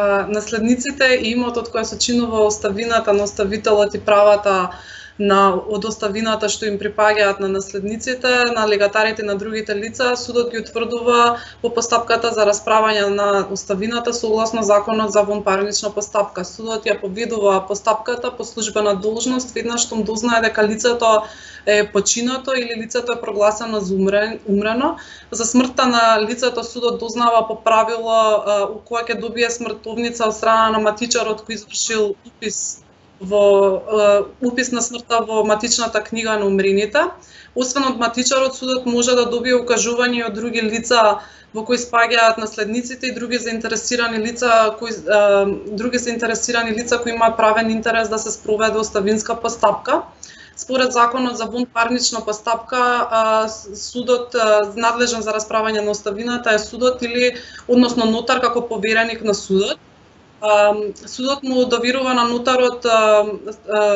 наследниците и имотот кој се чинува оставината на оставителот и правата од оставината што им припаѓаат на наследниците, на легатарите и на другите лица, судот ги утврдува по постапката за расправање на оставината согласно Законот за вонпарнична постапка. Судот ја поведува постапката по службена должност веднаш штом дознае дека лицето е починато или лицето е прогласено за умрено. За смртта на лицето судот дознава по правило кога ќе добие смртовница од страна на матичарот кој извршил упис на смртта во матичната книга на умрените. Освен од матичарот, судот може да добие укажување од други лица во кои спаѓаат наследниците и други заинтересирани лица кои имаат правен интерес да се спроведе оставинска постапка. Според Законот за вонпарнична постапка, судот надлежен за расправање на оставината е судот или односно нотар како повереник на судот. Судот му доверува на нотарот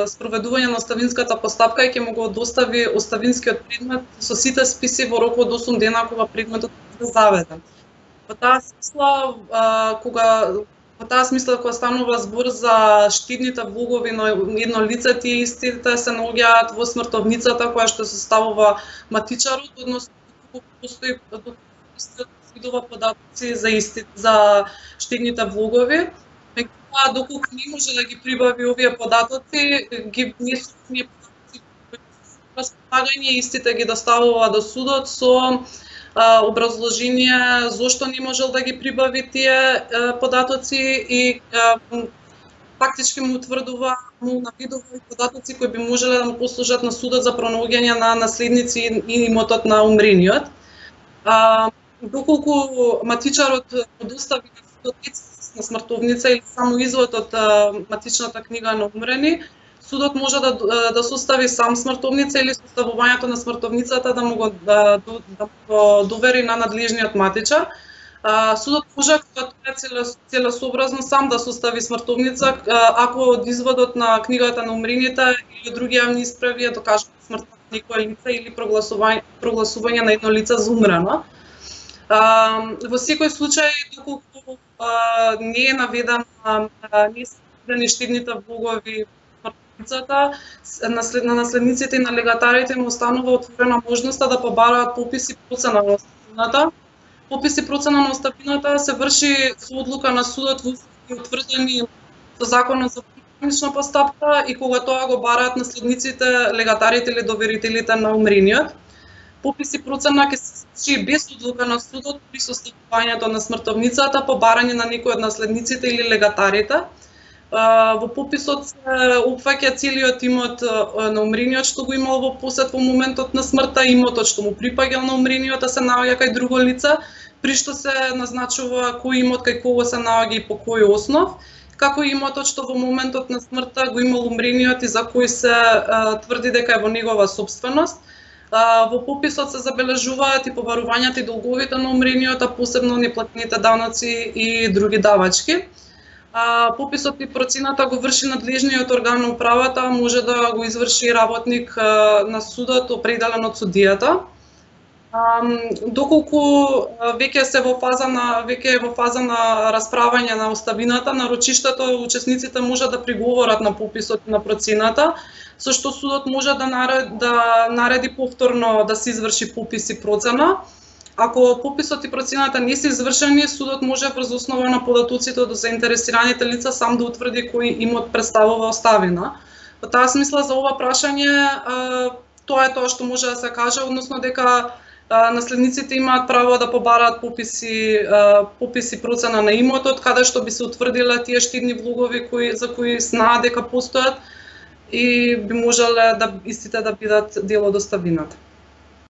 спроведување на оставинската постапка и ќе му го достави оставинскиот предмет со сите списи во рок од 8 дена кога предметот е заведен. Во таа смисла, кога станува збор за штидните влогови на едно лице, тие истите се наоѓаат во смртовницата која што се ставува матичарот, односно постои видува податоци за штидните влогови. Доколку не може да ги прибави овие податоци, ги внесува овие податоци располагање, истите ги доставува до судот со образложение зошто не можел да ги прибави тие податоци и фактички му утврдува, му наведува податоци кои би можеле да му послужат на судот за пронаоѓање на наследници и имотот на умрениот. Доколку матичарот достави на судот на смртовница или само извод од матичната книга на умрени, судот може да состави сам смртовница или составувањето на смртовницата да му го довери на надлежниот матичар. Судот може, кога тоа е целесообразно, сам да состави смртовница, ако од изводот на книгата на умрените или други јавни исправи е докажано смртта на некое лице или прогласување на едно лице за умрено. Во секој случај, доколку не е наведен, не се наведени штидните влогови на наследниците и на легатарите му останува отворена можноста да побараат попис и процена на оставината. Попис и процена на оставината се врши со одлука на судот во утврдени со Законот за вонпарнична постапка и кога тоа го бараат наследниците, легатарите или доверителите на умрениот. Попис и процена ќе се случи без одлука на судот при составувањето на смртовницата по барање на некој од наследниците или легатарите. Во пописот се опфаќа целиот имот на умрениот што го имал во посед во моментот на смртта, имотот што му припаѓал на умрениот, а се наоѓа кај друго лице, при што се назначува кој имот кај кого се наоѓа и по кој основ, како имотот што во моментот на смртта го имал умрениот и за кој се тврди дека е во негова собственост. Во пописот се забележуваат и побарувањата и долговите на умрениот, а посебно неплатените даноци и други давачки. Пописот и процената го врши надлежниот орган на управата, може да го изврши и работник на судот определен од судијата. Доколку веќе е во фаза на расправање на оставината, на рочиштето учесниците може да приговорат на пописот и на процената, со што судот може да нареди повторно да се изврши попис и процена. Ако пописот и процената не се извршени, судот може врз основа на податоците од заинтересираните лица сам да утврди кој имот представува оставина. Во таа смисла за ова прашање, тоа е тоа што може да се каже, односно дека наследниците имаат право да побараат попис и процена на имотот, каде што би се утврдиле тие штидни влогови за кои знаат дека постојат и би можеле истите да бидат дел од оставината.